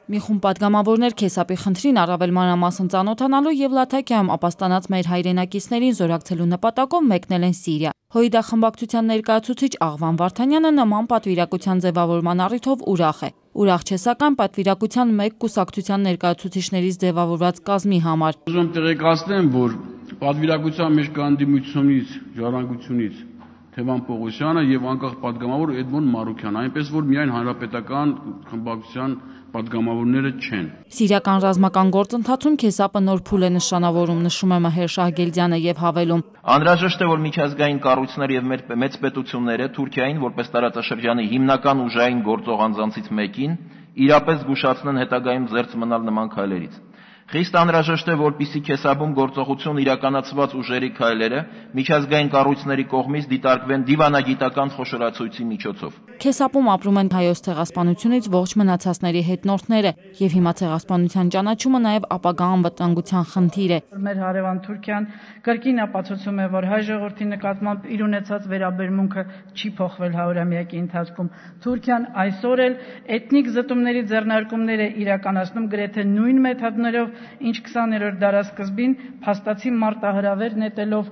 Մի խումբ պատգամավորներ քեսապի խնդրին առավել մանրամասն ծանոթանալու եւ Լաթաքիայում ապաստանած մեր հայրենակիցներին զորակցելու նպատակով մեկնել են Սիրիա։ Հոիդա խմբակցության ներկայացուցիչ Աղվան Վարդանյանը նման պատվիրակության ձևավորման առիթով ուրախ է։ Ուրախ չէ սակայն պատվիրակության մեկ կուսակցության ներկայացուցիչներից ձևավորված կազմի համար։ Ուզում եմ տեղեկացնեմ, որ պատվիրակության մեջ կան դիմությունից, ժառանգությունից Թևան Պողոսյանը եւ անկախ պատգամավոր Էդմոն Մարուքյանը, այնպես որ միայն հանրապետական խմբակցության պատգամավորները չեն։ Սիրիական ռազմական գործընթացում քեսապը նոր փուլ է նշանավորում, նշում է Մհեր Շահգելդյանը եւ հավելում. Անհրաժեշտ է, որ միջազգային կառույցները եւ մեծ պետությունները Թուրքիային որպես տարածաշրջանի հիմնական ուժային գործող անձանցից մեկին իրապես զգուշացնեն հետագայում զերծ մնալ նման քայլերից։ Խիստ անհրաժեշտ է, որպեսզի քեսապում գործողություն իրականացված ուժերի քայլերը միջազգային կառույցների կողմից դիտարկվեն դիվանագիտական խոշորացույցի միջոցով։ Քեսապում ապրում են հայոց ցեղասպանությունից ողջ մնացածների հետնորդները եւ հիմա ցեղասպանության ճանաչումը նաեւ ապագա անվտանգության խնդիր է։ Մեր հարևան Թուրքիան կրկին ապացուցում է, որ հայ ժողովրդի նկատմամբ իր ունեցած վերաբերմունքը չի փոխվել 100-ամյակի ընթացքում։ Թուրքիան այսօր էլ էթնիկ զտումների ձեռնարկումներ է իրականացնում գրեթե նույն մեթոդներով, ինչ 20-րդ դարասկզբին փաստացի մարտահրավեր նետելով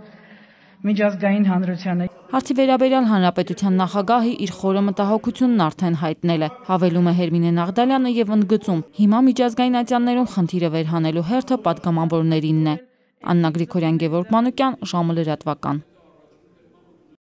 միջազգային հանրությանը։ Հարցի վերաբերյալ հանրապետության նախագահը իր խորը մտահոգությունն արդեն հայտնել է, հավելում է Հերմինե Նաղդալյանը եւ ընդգծում. հիմա միջազգային ատյաններում խնդիրը վերհանելու հերթը պատգամավորներինն է։ Աննա Գրիգորյան, Գևորգ Մանուկյան, ժամը լրատվական։